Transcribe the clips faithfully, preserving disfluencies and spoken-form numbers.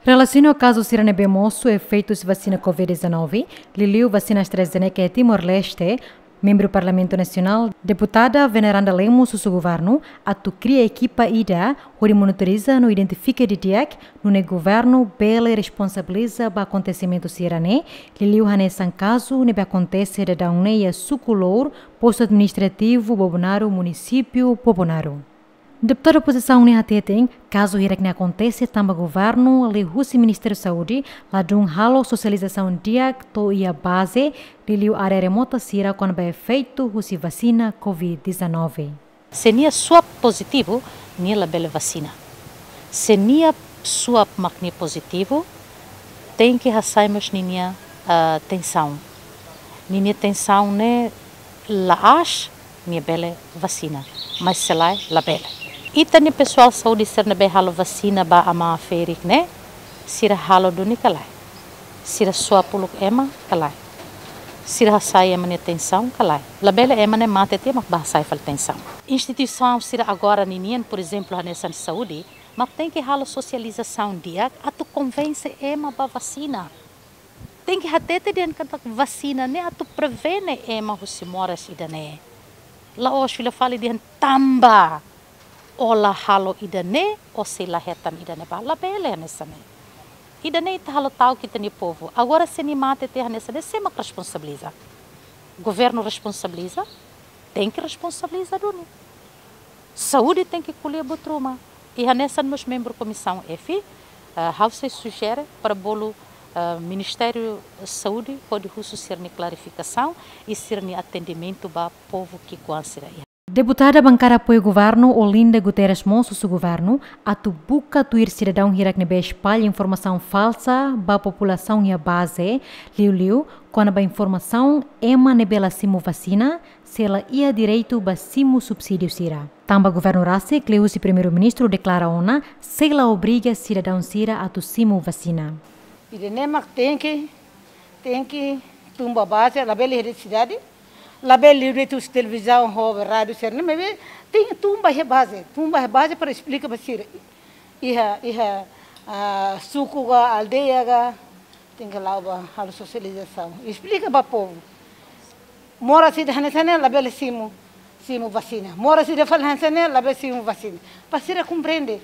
Relasiona ho kazu sira ne'ebé mosu efeitu husi vasina covid dezanove, liuliu vasina AstraZeneca iha Timor-Leste, membru Parlamentu Nasionál, Deputada Veneranda Lemos husu governu atu kria ekipa ida hodi monitoriza no identifika didi'ak, nune'e governu bele responsabiliza ba akontesimentu sira-ne'e, liuliu hanesan kazu ne'ebé akontese daudaun ne'e iha Suku Lour, Postu Administrativu Bobonaro, Munisípiu Bobonaro. Deputadu opozisaun ne'e hateten, kazu hirak-ne'e akontese tanba governu liuhusi Ministériu Saúde ladún halo sosializasaun di'ak to'o iha baze, liuliu área remota sira kona-ba efeitu husi vasina covid dezanove. Se nia swab pozitivu, nia labele vasina. Se nia swab mak nia pozitivu, tenke hasai mós ninia, ah, tensaun. Ninia tensaun ne'e la'ós, nia bele vasina, mas se lae, labele. Ita-nia pesoál saúde sira ne'ebé halo vasina ba amá ferik ne'e, sira halo duni ka lae? Sira swab uluk ema ka lae? Sira hasai ema nia tensaun ka lae? Labele ema ne'e mate tiha mak bá hasai fali tensaun. Instituisaun sira agora ninian, por ezemplu, hanesan saúde, mak tenke halo sosializasaun di'ak atu konvense ema ba vasina. Tenke hatete dehan katak vasina ne'e atu prevene ema husi moras ida-ne'e. La'ós fila fali dehan tanba ó la halo ida-ne'e, ó sei la hetan ida-ne'ebá. Labele hanesan ne'e. Ida-ne'e ita halo ta'uk ita-nia povu. Agora se nia mate tiha hanesan ne'e, sé mak responsabiliza? Governu responsabiliza? Tenke responsabiliza duni. Saúde tenke ko'alia buat ruma. I hanesan mós membru Komisaun F, eh, ha'u sei sujere para bolu, eh, Ministériu Saúde hodi husu sira-nia klarifikasaun i sira-nia atendimentu ba povu ki'ikoan sira iha. Deputada bankada apoiu governu, Olinda Guterres mós husu governu atu buka tuir sidadaun hirak ne'ebé espalla informasaun falsa ba populasaun iha baze, liuliu kona-ba informasaun ema ne'ebé la simu vasina, sei la iha direitu ba simu subsídiu sira. Tanba governu rasik, liuhusi Primeiru-Ministru deklara ona, sei la obriga sidadaun sira atu simu vasina. Ida-ne'e mak tenke, tenke tun ba baze, labele iha sidade, labele iha de'it husi televizaun ho rádiu sira-ne'e, maibé tenke tun ba iha baze, tun ba iha baze para esplika ba sira. Iha, iha, ah, suku ka, aldeia ka, tenke la'o ba halo sosializasaun. Esplika ba povu. Moras ida hanesan ne'e labele simu, simu vasina. Moras ida fali hanesan ne'e labele simu vasina. Para sira komprende.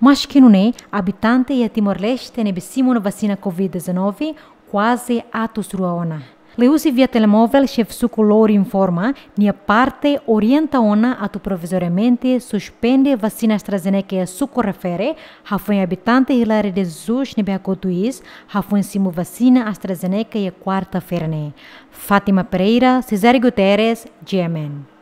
Maski nune'e, abitante iha Timor-Leste ne'ebé simu ona vasina covid dezanove kuaze atus rua ona. Liuhusi via telemovel, xefe Suku Lour informa, nia parte orienta ona atu provizoriamente suspende vasina AstraZeneca iha suku refere, hafoin abitante Hilaria de Jesus ne'ebé hakotu iis, hafoin simu vasina AstraZeneca iha kuarta-feira ne'e. Fátima Pereira, Cesário Guterres, G M N.